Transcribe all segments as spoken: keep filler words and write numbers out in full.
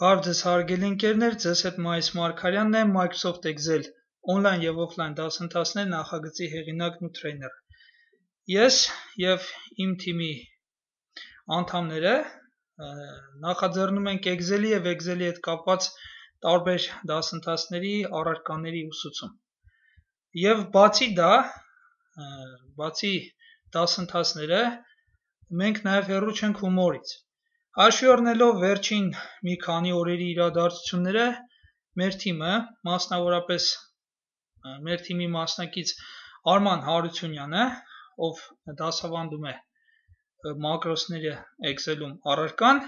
Բարև ձեզ հարգելի ընկերներ, ձեզ հետ Մայիս Մարգարյանն է, Microsoft Excel on-line և offline դասընթացներ նախագծի հեղինակն ու տրեյները։ Ես և իմ թիմի անդամները նախաձեռնում ենք Excel-ի և Excel-ի հետ կապված տարբեր դասընթացների առարկաների ուսուցում։ Եվ բացի դա, բացի դասընթացները, մենք նաև հեռու չենք հումորից։ Հաշվի առնելով վերջին մի քանի օրերի իրադարձությունները, մեր թիմը, մասնավորապես մեր թիմի մասնակից Արման Հարությունյանը, ով դասավանդում է մակրոսները Excel-ում առարկան,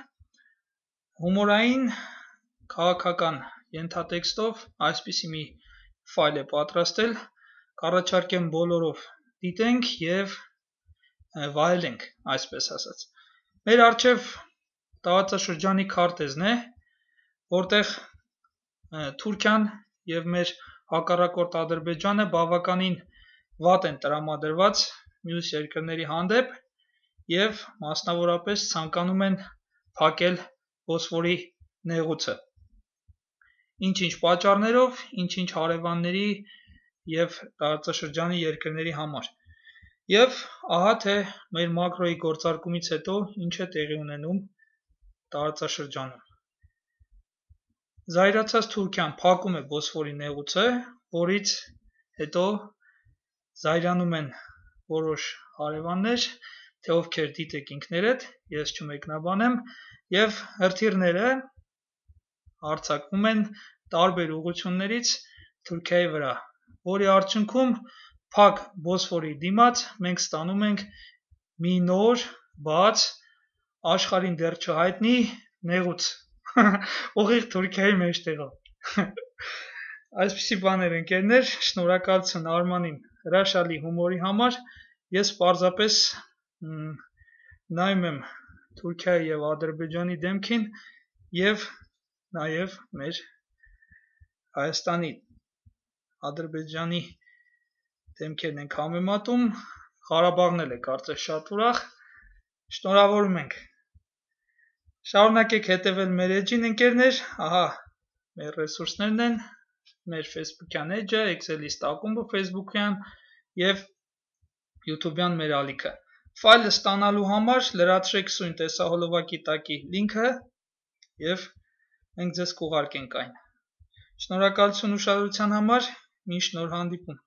հումորային քաղաքական ենթատեքստով այսպիսի մի ֆայլ է պատրաստել, կառաջարկեմ բոլորով դիտենք և վայելենք, այսպես ասած։ Մեր առջև տարածաշրջանի քարտեզն է, որտեղ Թուրքիան և մեր հակառակորդ Ադրբեջանը բավականին վատ են տրամադրված մյուս երկրների հանդեպ և մասնավորապես ցանկանում են փակել Բոսֆորի նեղուցը։ Ինչ-ինչ պատճառներով, ինչ-ինչ հարևանների և տարածաշրջանի երկրների համար։ Եվ ահա թե մեր մակրոյի գործարկումից հետո ինչ է տեղի ունենում տարածաշրջանում։ Զայրացած Թուրքիան փակում է Բոսֆորի նեղուցը, որից հետո զայրանում են որոշ հարևաններ, թե ովքեր դիտեք ինքներդ, ես չմեկնաբանեմ, և հրթիռները հարձակվում են տարբեր ուղղություններից Թուրքիայի վրա, որի արդյունքում փակ Բոսֆորի դիմաց մենք ստանում ենք մի նոր, բաց, աշխարհին դեռ չհայտնի նեղուց, ուղիղ Թուրքիայի մեջտեղով։ Այսպիսի բաներ ընկերներ, շնորհակալություն Արմանին հրաշալի հումորի համար, ես պարզապես նայում եմ Թուրքիայի և Ադրբեջանի դեմքին և նաև մեր Հայաստանի Ադրբեջանի դեմքերն ենք համեմատում, Ղարաբաղն էլ է կարծես շատ ուրախ, շնորհավորում ենք։ Շարունակեք հետևել մեր էջին ընկերներ, ահա մեր ռեսուրսներն են, մեր Facebook-յան էջը, Excel-իստ ակումբը Facebook-յան և YouTube-յան մեր ալիքը։ Ֆայլը ստանալու համար լրացրեք սույն տեսահոլովակի տակի լինքը և մենք ձեզ կուղարկենք այն։ Շնորհակալություն ուշադրության համար, մինչ նոր հանդիպում։